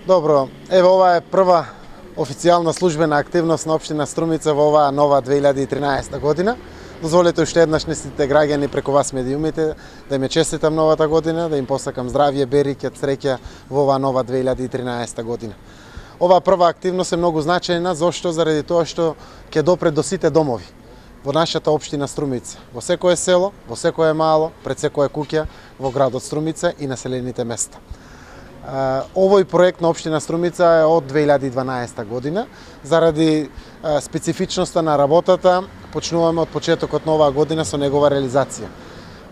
Добро, еве ова е прва официјална службена активност на општина Струмица во оваа нова 2013 година. Дозволете уште еднаш на сите граѓани преку вас медиумите да им честитам новата година, да им посакам здравје, береќе, среќа во оваа нова 2013 година. Оваа прва активност е многу значајна, зошто? Заради тоа што ќе допре до сите домови во нашата општина Струмица, во секое село, во секое мало, пред секое куќа во градот Струмица и населените места. Овој проект на општина Струмица е од 2012 година. Заради специфичноста на работата, почнуваме од почетокот на оваа година со негова реализација.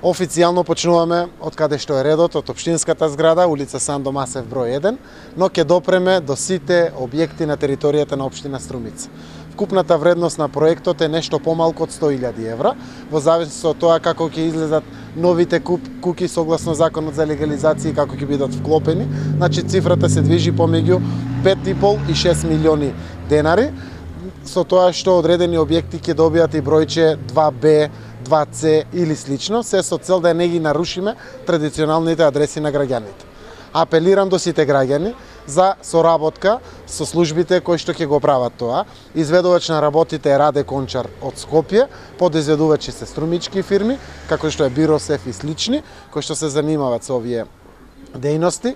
Официјално почнуваме од каде што е редот, од општинската зграда, улица Сандо Масев број 1, но ќе допреме до сите објекти на територијата на општина Струмица. Вкупната вредност на проектот е нешто помалку од 100.000 евра, во зависност од тоа како ќе излезат новите куќи согласно законот за легализација и како ќе бидат вклопени. Значи цифрата се движи помеѓу 5,5 и 6 милиони денари, со тоа што одредени објекти ќе добијат и бројче 2Б, 2C или слично, се со цел да не ги нарушиме традиционалните адреси на граѓаните. Апелирам до сите граѓани за соработка со службите кои што ќе го прават тоа. Изведувач на работите е Раде Кончар од Скопје, подизведувачи се струмички фирми, како што е Биросеф и слични, кои што се занимаваат со овие дејности.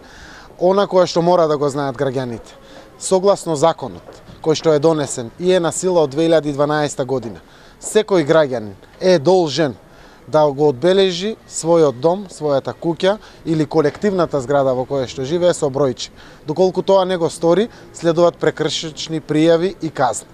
Она кое што мора да го знаат граѓаните, согласно законот кој што е донесен и е на сила од 2012 година, секој граѓанин е должен да го одбележи својот дом, својата куќа или колективната зграда во која што живее со бројче. Доколку тоа не го стори, следуваат прекршични пријави и казни.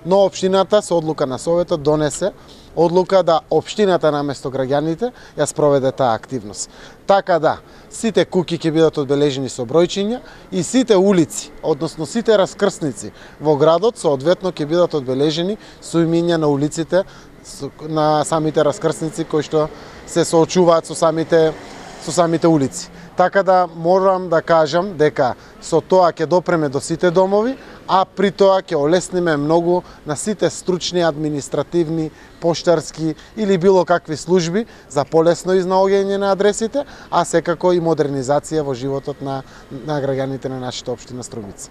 Но општината со одлука на советот донесе одлука да општината наместо граѓаните ја спроведе таа активност. Така да, сите куќи ќе бидат одбележени со бројчиња и сите улици, односно сите раскрсници во градот соодветно ќе бидат одбележени со имиња на улиците на самите раскрсници кои што се соочуваат со самите улици. Така да морам да кажам дека со тоа ќе допреме до сите домови, а при тоа ќе олесниме многу на сите стручни, административни, поштарски или било какви служби за полесно изнаоѓање на адресите, а секако и модернизација во животот на граѓаните на нашата општина Струмица.